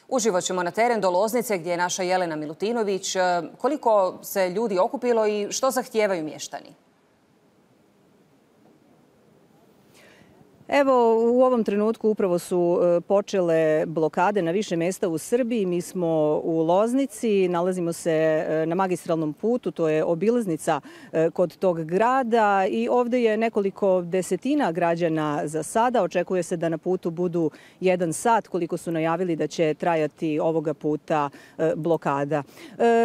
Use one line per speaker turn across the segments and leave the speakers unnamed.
Uživo ćemo na teren do Loznice gdje je naša Jelena Milutinović. Koliko se ljudi okupilo i što zahtijevaju mještani?
Evo, u ovom trenutku upravo su počele blokade na više mjesta u Srbiji. Mi smo u Loznici, nalazimo se na magistralnom putu, to je obilaznica kod tog grada i ovdje je nekoliko desetina građana za sada. Očekuje se da na putu budu 1 sat, koliko su najavili da će trajati ovoga puta blokada.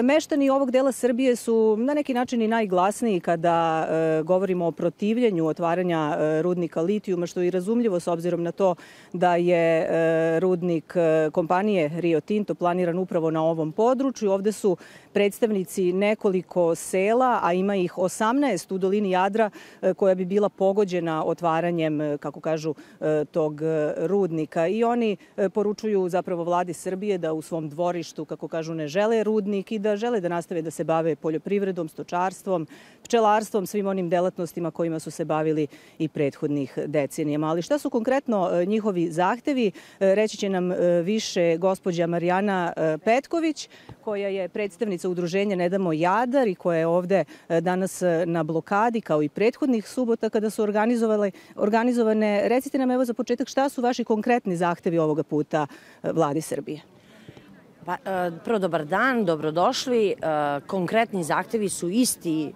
Meštani ovog dela Srbije su na neki način i najglasniji kada govorimo o protivljenju otvaranja rudnika litijuma, što je razumljivo s obzirom na to da je rudnik kompanije Rio Tinto planiran upravo na ovom području. Ovdje su predstavnici nekoliko sela, a ima ih 18 u dolini Jadra koja bi bila pogođena otvaranjem, kako kažu, tog rudnika. I oni poručuju zapravo vladi Srbije da u svom dvorištu, kako kažu, ne žele rudnik i da žele da nastave da se bave poljoprivredom, stočarstvom, pčelarstvom, svim onim delatnostima kojima su se bavili i prethodnih decenija. Ali šta su konkretno njihovi zahtevi, reći će nam više gospođa Marijana Petković, koja je predstavnica udruženja Ne damo Jadar i koja je ovdje danas na blokadi, kao i prethodnih subota kada su organizovane. Recite nam evo za početak šta su vaši konkretni zahtevi ovoga puta vladi Srbije?
Prvo, dobar dan, dobrodošli. Konkretni zahtevi su isti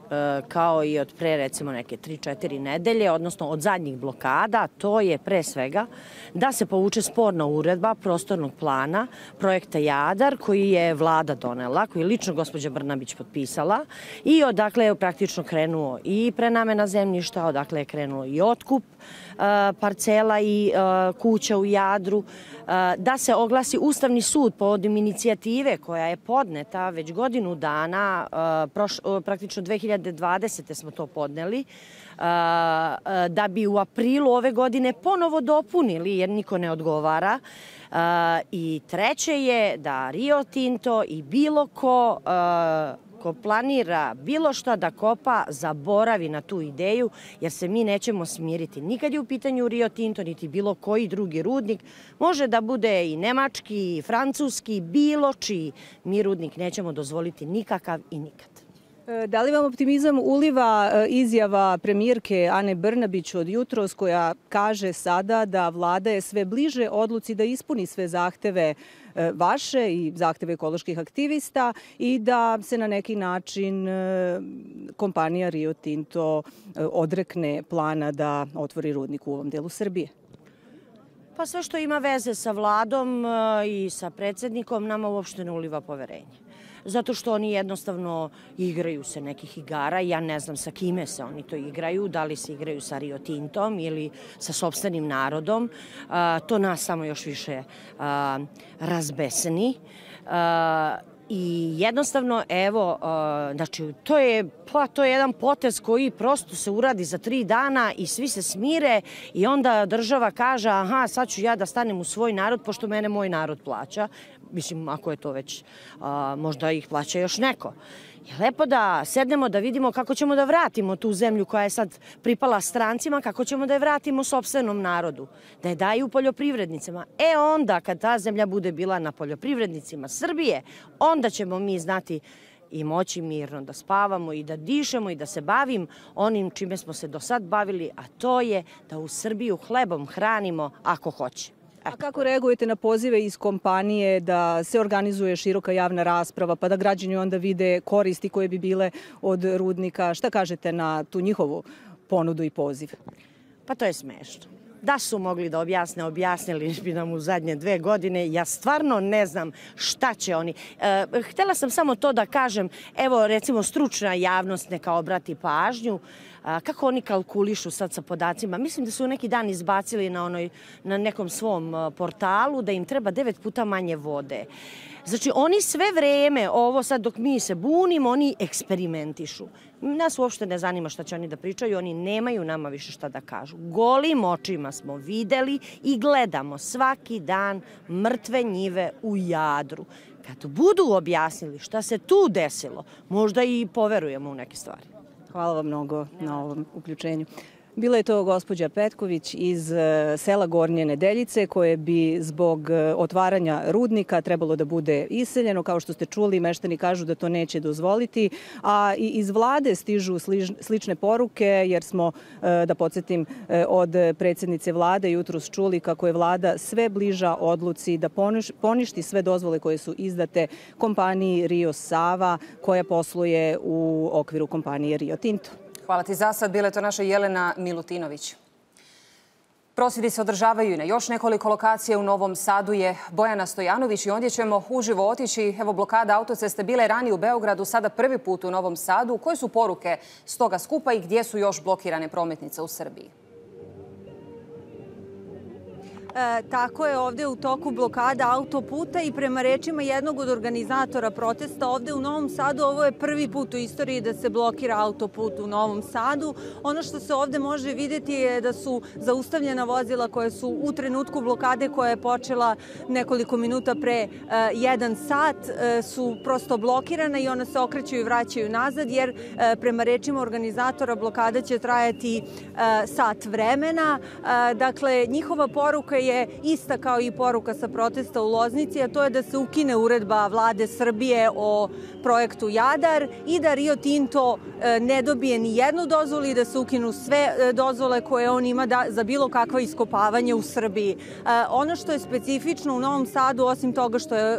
kao i od pre recimo neke 3-4 nedelje, odnosno od zadnjih blokada. To je pre svega da se povuče sporna uredba prostornog plana projekta Jadar koji je vlada donela, koji je lično gospođa Brnabić potpisala i odakle je praktično krenuo i prenamena zemljišta, odakle je krenuo i otkup parcela i kuća u Jadru, da se oglasi Ustavni sud povodom inicijative koja je podneta već godinu dana, praktično 2020. smo to podneli, da bi u aprilu ove godine ponovo dopunili jer niko ne odgovara. I treće je da Rio Tinto i bilo ko planira bilo šta da kopa, zaboravi na tu ideju, jer se mi nećemo smiriti. Nikad je u pitanju Rio Tinto, niti bilo koji drugi rudnik. Može da bude i nemački, i francuski, bilo čiji. Mi rudnik nećemo dozvoliti nikakav i nikad.
Da li vam optimizam uliva izjava premijerke Ane Brnabić od jutros koja kaže sada da vlada je sve bliže odluci da ispuni sve zahteve vaše i zahteve ekoloških aktivista i da se na neki način kompanija Rio Tinto odrekne plana da otvori rudnik u ovom delu Srbije?
Pa sve što ima veze sa vladom i sa predsjednikom nama uopšte ne uliva poverenje. Zato što oni jednostavno igraju se nekih igara. Ja ne znam sa kime se oni to igraju, da li se igraju sa Rio Tintom ili sa sopstvenim narodom. To nas samo još više razbesni. I jednostavno, evo, znači, to je jedan potez koji prosto se uradi za 3 dana i svi se smire i onda država kaže, aha, sad ću ja da stanem u svoj narod, pošto mene moj narod plaća. Mislim, ako je to već, možda ih plaća još neko. Je lepo da sednemo da vidimo kako ćemo da vratimo tu zemlju koja je sad pripala strancima, kako ćemo da je vratimo sopstvenom narodu, da je daju poljoprivrednicima. Onda kad ta zemlja bude bila na poljoprivrednicima Srbije, onda ćemo mi znati i moći mirno da spavamo i da dišemo i da se bavim onim čime smo se do sad bavili, a to je da u Srbiju hlebom hranimo ako hoće.
A kako reagujete na pozive iz kompanije da se organizuje široka javna rasprava pa da građani onda vide koristi koje bi bile od rudnika? Šta kažete na tu njihovu ponudu i poziv?
Pa to je smešno. Da su mogli da objasne, objasnili bi nam u zadnje 2 godine. Ja stvarno ne znam šta će oni. Htjela sam samo to da kažem, evo recimo stručna javnost neka obrati pažnju, kako oni kalkulišu sad sa podacima. Mislim da su neki dan izbacili na nekom svom portalu da im treba 9 puta manje vode. Znači, oni sve vreme, ovo sad dok mi se bunimo, oni eksperimentišu. Nas uopšte ne zanima šta će oni da pričaju, oni nemaju nama više šta da kažu. Golim očima smo videli i gledamo svaki dan mrtve njive u Jadru. Kad budu objasnili šta se tu desilo, možda i poverujemo u neke stvari.
Hvala vam mnogo na ovom uključenju. Bila je to gospođa Petković iz sela Gornje Nedeljice, koje bi zbog otvaranja rudnika trebalo da bude iseljeno. Kao što ste čuli, meštani kažu da to neće dozvoliti, a i iz vlade stižu slične poruke, jer smo, da podsjetim, od predsjednice vlade jutros čuli kako je vlada sve bliža odluci da poništi sve dozvole koje su izdate kompaniji Rio Sava, koja posluje u okviru kompanije Rio Tinto.
Hvala ti za sad. Bila je to naša Jelena Milutinović. Prosvjedi se održavaju i na još nekoliko lokacija. U Novom Sadu je Bojana Stojanović i ondje ćemo uživo otići. Evo, blokada autoceste bila je ranije u Beogradu, sada prvi put u Novom Sadu. Koje su poruke s toga skupa i gdje su još blokirane prometnice u Srbiji?
Tako je, ovdje u toku blokada autoputa i prema rečima jednog od organizatora protesta ovdje u Novom Sadu, ovo je prvi put u istoriji da se blokira autoput u Novom Sadu. Ono što se ovdje može vidjeti je da su zaustavljena vozila koje su u trenutku blokade, koja je počela nekoliko minuta pre 1 sat, su prosto blokirana i ona se okreću i vraćaju nazad, jer prema rečima organizatora blokada će trajati sat vremena. Dakle, njihova poruka je ista kao i poruka sa protesta u Loznici, a to je da se ukine uredba vlade Srbije o projektu Jadar i da Rio Tinto ne dobije ni jednu dozvolu i da se ukinu sve dozvole koje on ima za bilo kakvo iskopavanje u Srbiji. Ono što je specifično u Novom Sadu, osim toga što je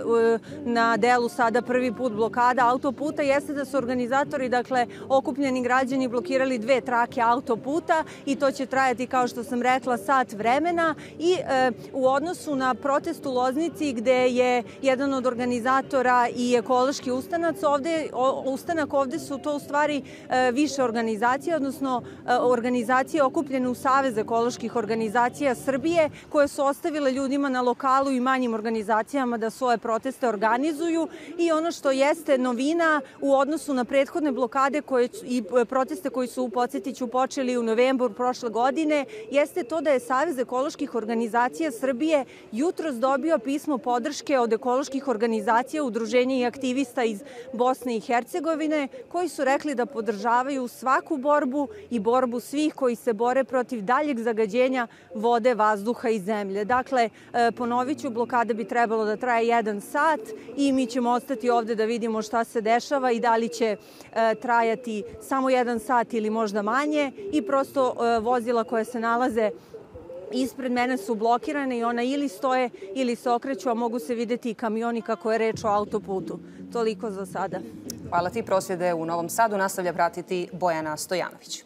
na delu sada prvi put blokada autoputa, jeste da su organizatori, dakle okupljeni građani, blokirali 2 trake autoputa i to će trajati, kao što sam rekla, sat vremena. I u odnosu na protest u Loznici, gde je jedan od organizatora i ekološki ustanak, ovdje su to u stvari više organizacije, odnosno organizacije okupljene u Savez ekoloških organizacija Srbije, koje su ostavile ljudima na lokalu i manjim organizacijama da svoje proteste organizuju. I ono što jeste novina u odnosu na prethodne blokade i proteste koji su, podsjetiću, počeli u novembru prošle godine, jeste to da je Savez ekoloških organizacija Srbije jutros dobio pismo podrške od ekoloških organizacija, udruženja i aktivista iz Bosne i Hercegovine, koji su rekli da podržavaju svaku borbu i borbu svih koji se bore protiv daljeg zagađenja vode, vazduha i zemlje. Dakle, ponovit ću, blokada bi trebalo da traje 1 sat i mi ćemo ostati ovdje da vidimo šta se dešava i da li će trajati samo 1 sat ili možda manje. I prosto vozila koje se nalaze ispred mene su blokirane i ona ili stoje ili se okreću, a mogu se vidjeti i kamioni kako je reč o autoputu. Toliko za sada.
Hvala ti. Prosvjede u Novom Sadu nastavlja pratiti Bojana Stojanović.